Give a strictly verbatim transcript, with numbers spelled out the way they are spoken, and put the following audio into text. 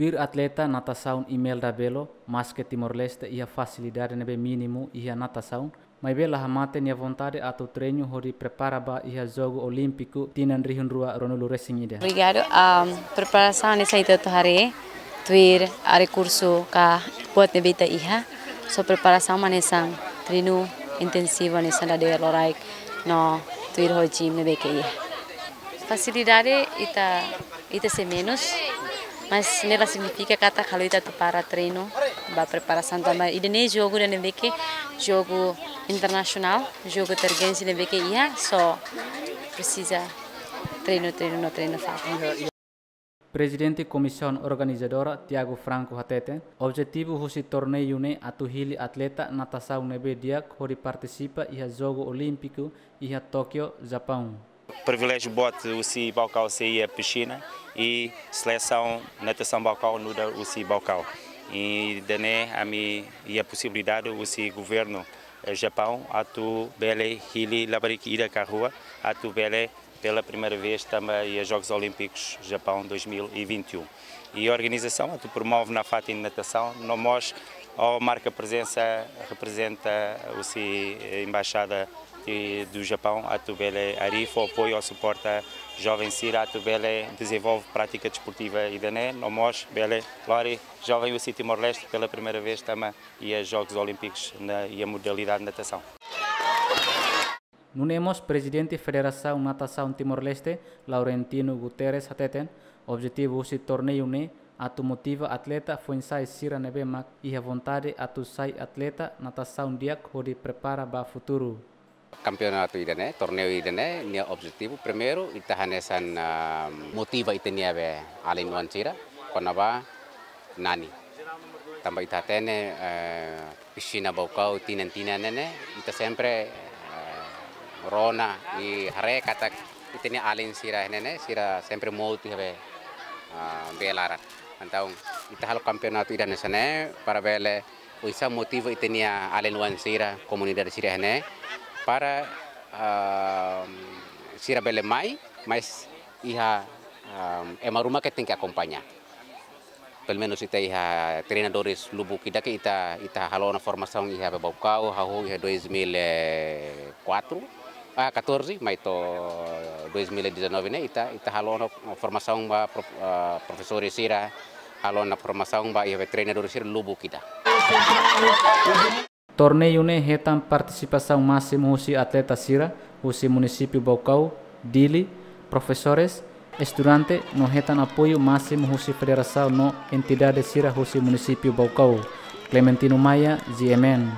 Tuir atleta natasaun Imelda Belo, maske Timor-Leste iha fasilidade ne'ebé mínimu iha natasaun, maibé la hamate nia vontade atu treinu hodi prepara ba iha Jogu Olímpiku tinan rihun rua ruanulu resin ida. Obrigadu. Am, preparasaun hanesan ita hotu haree, tuir rekursu ka buat ne'ebé ita iha. So preparasaun hanesan treinu intensivu hanesan dadeer loraik no tuir ho gym ne'ebé ke iha. Fasilidade ita, ita sei menus, mas ne'e la signifika katak halo ita atu para treinu ba preparasaun tanba ida-ne'e jogu ida ne'ebé ke jogu internasionál, jogu tergensi ne'ebé ke iha, so presiza treinu, treinu no treinu fatin. Prezidente Komisaun Organizadora, Tiago Franco hateten, objetivu husi torneiu ne'e atu hili atleta natasaun ne'ebé di'ak hodi partisipa iha Jogu Olímpiku iha Tóquio, Japaun. Priviléjiu boot husi Baucau sei iha pixina i selesaun natasaun Baucau nu'udar husi Baucau. I ida-ne'e ami iha posibilidade husi governu, eh, Japaun atu bele hili labarik ida ka rua atu bele pela primeira vez tama iha Jogos Olímpicos Japaun dois mil e vinte e um. I organizasaun atu promove nafatin natasaun, no mós, ó, marka prezensa, reprezenta husi, eh, embaixada de, do Japaun, atu bele harii fó apoiu ou suporta joven sira atu bele dezenvolve prátika desportiva ida-ne'e, no mós bele lori joven husi Timor-Leste pela primeira vez tama iha Jogos Olímpicos na, iha modalidade natasaun. Nune'e mós Prezidente Federasaun Natasaun Timor-Leste, Laurentino Guterres hateten, objetivu husi torneiu ne'e atu motiva atleta foin-sa'e sira ne'ebé mak iha vontade atu sai atleta natasaun di'ak hodi prepara ba futuru. Kampeonatu ida-ne'e, torneiu ida-ne'e, nia objetivu primeiru, ita hanesan, ah, motiva ita-nia be alin-oan sira, kona-ba nani. Tanba ita hatene, eh, pixina Baucau tinan-tinan ne'e ne'e, ita sempre, eh, rona i haree katak ita-nia alin sira ne'e ne'e, sira sempre mout iha be, ah, bee laran. Entaun, ita halo kampeonatu ida hanesan ne'e, para bele, oinsá motiva ita-nia alin-oan sira, komunidade sira ne'e, para, ah, sira bele mai, mas iha, ah, ema ruma ke tenke akompaña. Pelumenus ita iha treinadores lubuk ida ke ita, ita halo ona formasaun iha Baucau, hahú iha dois mil e quatro, ah, catorze, mai to'o dois mil e dezanove ne'e, ita, ita halo ona formasaun ba prof-, ah, profesores sira, halo ona formasaun ba iha treinadores sira lubuk ida. Torneiu ne'e hetan partisipasaun másimu husi atleta sira husi munisípiu Baucau, Dili, profesores, estudante, no hetan apoiu másimu husi federasaun no entidade sira husi munisípiu Baucau. Clementino Maia, G M N.